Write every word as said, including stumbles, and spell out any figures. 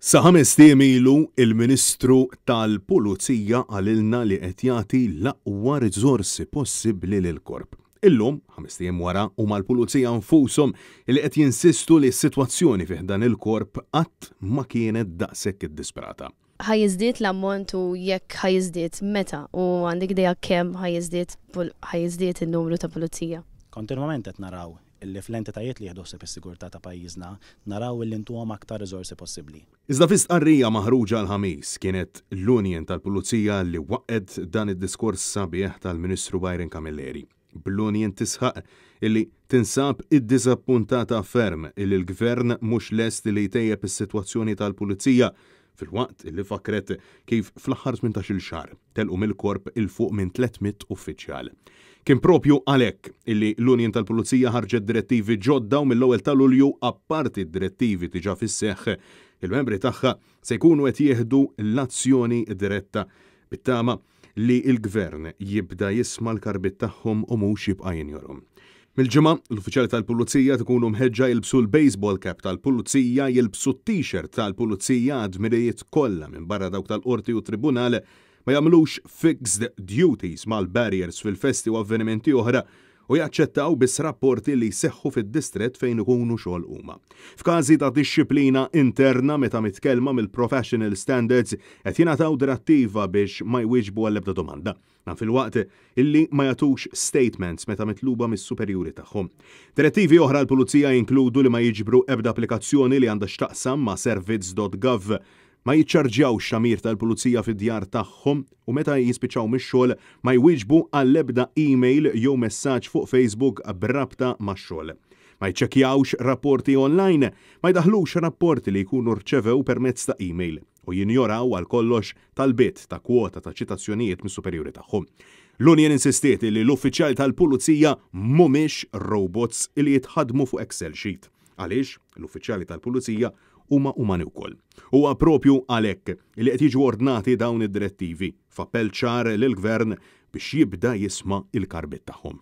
Sa ħamest ijiem ilu, il-Ministru tal-Pulizija qalilna li qed jagħti l-aqwa riżorsi possibbli lill-korp. Illum, ħamest ijiem wara, huma l-Pulizija nfushom li qed jinsistu li s-sitwazzjoni fih dan il-korp qatt ma kienet daqshekk iddisprata. Ħa jiżdied l-ammont u jekk ħa jiżdied, meta, u għandek idea kemm ħa jiżdied ħa jiżdied in-numru ta' pulizija? Kontinwament qed naraw illi fl-entitajiet li jieħdu ħsieb is-sigurtà ta' pajjiżna naraw illi ntuhom aktar riżorsi possibbli. Iżda fi stqarrija maħruġa l-Ħamis, kienet l-Union tal-Pulizija li waqqgħet dan id-diskors sabiħ tal-Ministru Byron Camilleri. Bl-Union tisħaq illi tinsab iddiżappuntata ferm illi l-Gvern mhux lest li jtejjeb is-sitwazzjoni tal-Pulizija, filwaqt li fakret kif fl-aħħar tmintax-il xahar telqu mill-korp 'il fuq minn tliet mitt uffiċjal. Kien propju għalhekk illi l-Union tal-Pulizija ħarġet direttivi ġodda u mill-ewwel ta' Lulju, apparti direttivi diġà fis-seħħ, il-membri tagħha se jkunu qed jieħdu l-azzjoni diretta bit-tama li l-gvern jibda jisma' l-karbiet tagħhom u mhux jibqa' jinjorhom. Mill-Ġimgħa, l-uffiċjali tal-Pulizija tkunu mħeġġa jilbsu l-baseball cap tal-Pulizija, jilbsu t-t-shirt tal-Pulizija għad-dmirijiet kollha minn barra dawk tal-qorti u tribunal, ma jagħmlux fixed duties mal-barriers fil-festi u avvenimenti oħra u jaċċettaw biss rapporti li jseħħu fid-distret fejn ikunu xogħol huma. F'każi ta' dixxiplina interna meta mitkellma mill-professional standards, qed jingħataw direttiva biex ma jwieġbu għall-ebda domanda. Dan filwaqt illi ma jagħtux statements meta mitluba mis-superjuri tagħhom. Direttivi oħra l-pulizija jinkludu li ma jiġbru ebda applikazzjoni li għandha x'taqsam ma' servizz punt gov, ma jiċċarġjawx tagħmir tal-pulizija fid-djar tagħhom u meta jispiċċaw mix-xogħol ma jwieġbu għall-ebda email jew messaġġ fuq Facebook b'rabta max-xogħol. Ma jċekkjawx rapporti online, ma jdaħlux rapporti li jkunu rċevew permezz ta' email u jinjoraw għal kollox talbiet ta' kwota ta' ċitazzjonijiet mis-superjuri tagħhom. L-Union insistiet li l-uffiċjali tal-pulizija mhumiex robots li jitħadmu fuq Excel sheet. Għaliex l-uffiċjali tal-pulizija huma umani wkoll. Huwa propju għalhekk li qed jiġu ordnati dawn id-direttivi f'appell ċar lill-gvern biex jibda jisma' il-karbiet tagħhom.